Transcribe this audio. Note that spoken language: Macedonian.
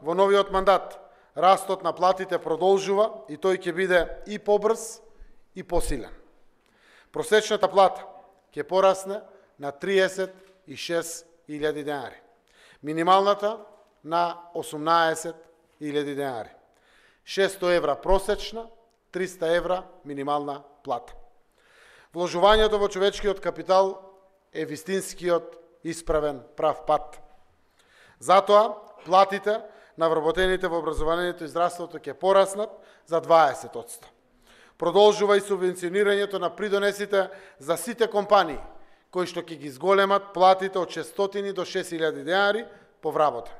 во новиот мандат растот на платите продолжува и тој ќе биде и побрз и посилен. Просечната плата ќе порасне на 36.000 денари. Минималната на 18.000 денари. 600 евра просечна, 300 евра минимална плата. Вложувањето во човечкиот капитал е вистинскиот исправен прав пат. Затоа, платите на вработените во образованието и здравството ќе пораснат за 20%. Продолжува и субвенционирањето на придонесите за сите компании, кои што ќе ги зголемат платите од 600 до 6.000 денари по вработен.